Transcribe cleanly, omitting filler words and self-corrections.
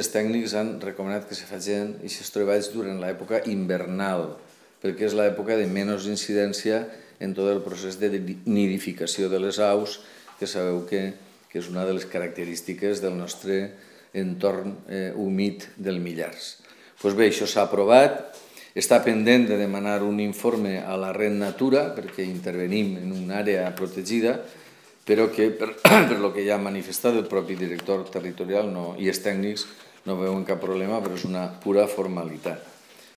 els tècnics han recomanat que se facin aquests treballs durant l'època invernal, perquè és l'època de menys incidència en tot el procés de nidificació de les aus, que sabeu que és una de les característiques del nostre entorn humit del Millars. Doncs bé, això s'ha aprovat, està pendent de demanar un informe a la Red Natura, perquè intervenim en una àrea protegida, però que, per lo que ja ha manifestat el propi director territorial i els tècnics, no veuen cap problema, però és una pura formalitat.